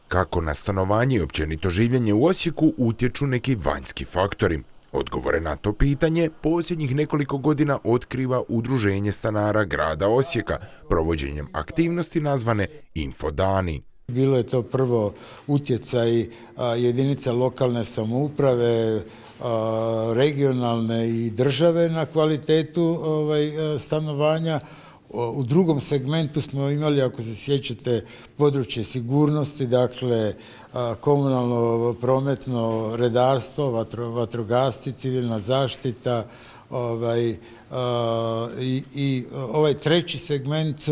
Kako na stanovanje i općenito življenje u Osijeku utječu neki vanjski faktori? Odgovore na to pitanje posljednjih nekoliko godina otkriva Udruženje stanara grada Osijeka provođenjem aktivnosti nazvane Infodani. Bilo je to prvo utjecaj jedinica lokalne samouprave, regionalne i države na kvalitetu stanovanja. U drugom segmentu smo imali, ako se sjećate, područje sigurnosti, dakle komunalno, prometno redarstvo, vatrogasci, civilna zaštita i ovaj treći segment,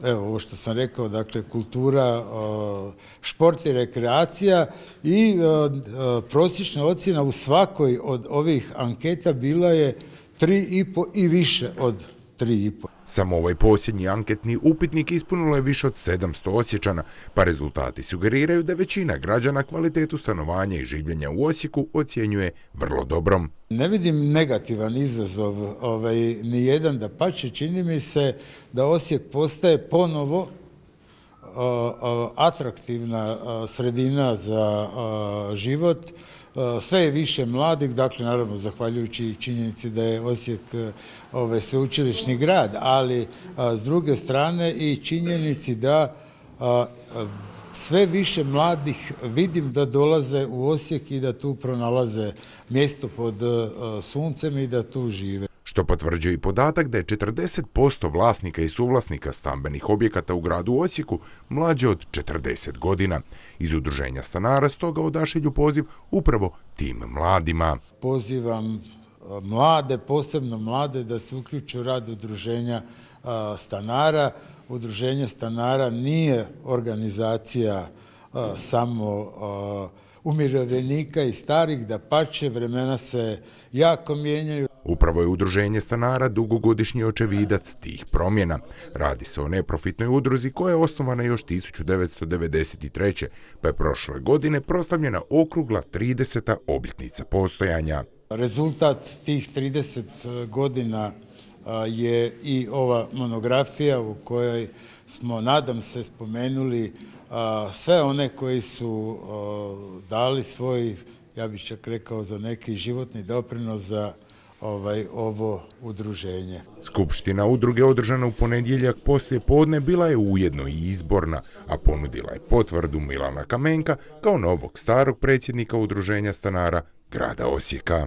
evo ovo što sam rekao, dakle kultura, šport i rekreacija i prosječna ocjena u svakoj od ovih anketa bila je 3,5 i više od 3,5. Samo ovaj posljednji anketni upitnik ispunilo je više od 700 Osječana, pa rezultati sugeriraju da većina građana kvalitetu stanovanja i življenja u Osijeku ocjenjuje vrlo dobrom. Ne vidim negativan izazov ni jedan, dapače, čini mi se da Osijek postaje ponovo atraktivna sredina za život. Sve je više mladih, dakle naravno zahvaljujući činjenici da je Osijek sveučilišni grad, ali s druge strane i činjenici da sve više mladih vidim da dolaze u Osijek i da tu pronalaze mjesto pod suncem i da tu žive. Što potvrđuje i podatak da je 40% vlasnika i suvlasnika stambenih objekata u gradu Osijeku mlađe od 40 godina. Iz Udruženja stanara stoga odašilju poziv upravo tim mladima. Pozivam mlade, posebno mlade, da se uključe u rad Udruženja stanara. Udruženje stanara nije organizacija samo umirovljenika i starih, dapače, vremena se jako mijenjaju. Upravo je Udruženje stanara dugogodišnji očevidac tih promjena. Radi se o neprofitnoj udruzi koja je osnovana još 1993. pa je prošle godine proslavljena okrugla 30. obljetnica postojanja. Rezultat tih 30 godina je i ova monografija u kojoj smo, nadam se, spomenuli sve one koji su dali svoj, ja bih čak rekao, za neki životni doprinos za ovo udruženje. Skupština udruge održana u ponedjeljak poslije podne bila je ujedno i izborna, a ponudila je potvrdu Milana Kamenka kao novog starog predsjednika Udruženja stanara grada Osijeka.